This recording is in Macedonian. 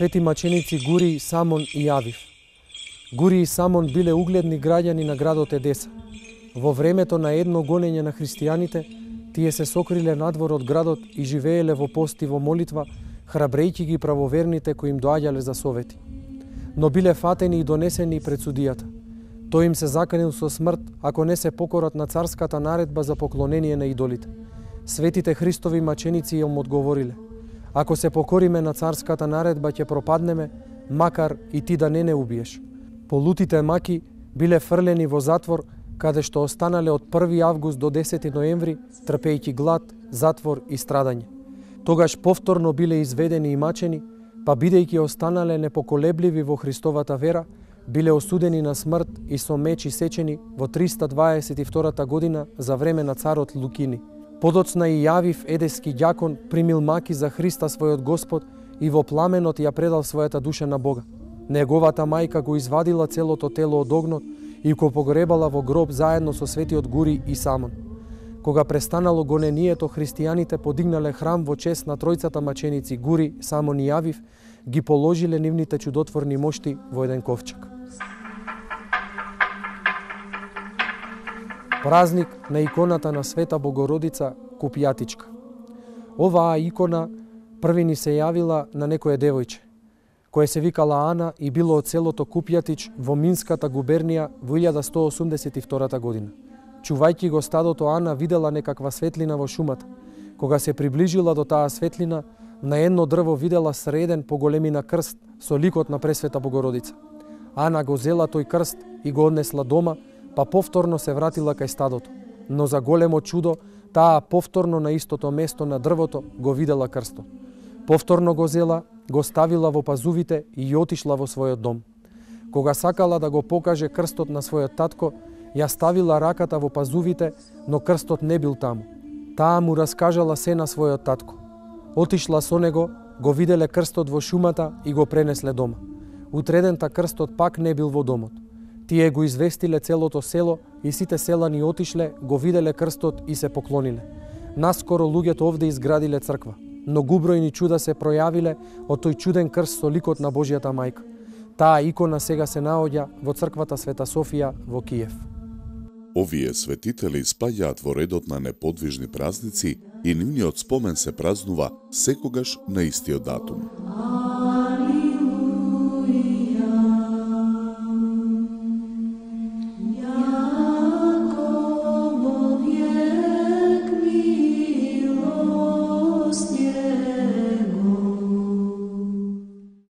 свети маченици Гури, Самон и Јавив. Гури и Самон биле угледни граѓани на градот Едеса. Во времето на едно гонење на христијаните, тие се сокриле надвор од градот и живееле во пост и во молитва, храбрејќи ги правоверните кои им доаѓале за совети. Но биле фатени и донесени пред судијата. Тој им се заканил со смрт ако не се покорат на царската наредба за поклонение на идолите. Светите Христови маченици им одговориле: ако се покориме на царската наредба ќе пропаднеме, макар и ти да не убиеш. Полутите маки биле фрлени во затвор, каде што останале од 1 август до 10 ноември, трпејќи глад, затвор и страдање. Тогаш повторно биле изведени и мачени, па бидејќи останале непоколебливи во Христовата вера, биле осудени на смрт и со меч исечени во 322 година за време на царот Лукини. Подоцна и Јавив, едески ѓакон, примил маки за Христа својот Господ и во пламенот ја предал својата душа на Бога. Неговата мајка го извадила целото тело од огнот и го погребала во гроб заедно со светиот Гури и Самон. Кога престанало гонението, христијаните подигнале храм во чест на тројцата маченици Гури, Самон и Јавив, ги положиле нивните чудотворни мошти во еден ковчег. Празник на иконата на Света Богородица Купјатичка. Оваа икона први ни се јавила на некое девојче, кое се викала Ана и било од селото Купјатич во Минската губернија во 1182 година. Чувајќи го стадото, Ана видела некаква светлина во шумата. Кога се приближила до таа светлина, на едно дрво видела среден по големина крст со ликот на Пресвета Богородица. Ана го зела тој крст и го однесла дома, па повторно се вратила кај стадото. Но за големо чудо, таа повторно на истото место на дрвото го видела крстот. Повторно го зела, го ставила во пазувите и отишла во својот дом. Кога сакала да го покаже крстот на својот татко, ја ставила раката во пазувите, но крстот не бил таму. Таа му раскажала се на својот татко. Отишла со него, го виделе крстот во шумата и го пренесле дома. Утредента крстот пак не бил во домот. Тие го известиле целото село и сите селани отишле, го виделе крстот и се поклониле. Наскоро луѓето овде изградиле црква. Многу бројни чуда се пројавиле од тој чуден крст со ликот на Божјата мајка. Таа икона сега се наоѓа во црквата Света Софија во Киев. Овие светители спаѓаат во редот на неподвижни празници и нивниот спомен се празнува секогаш на истиот датум.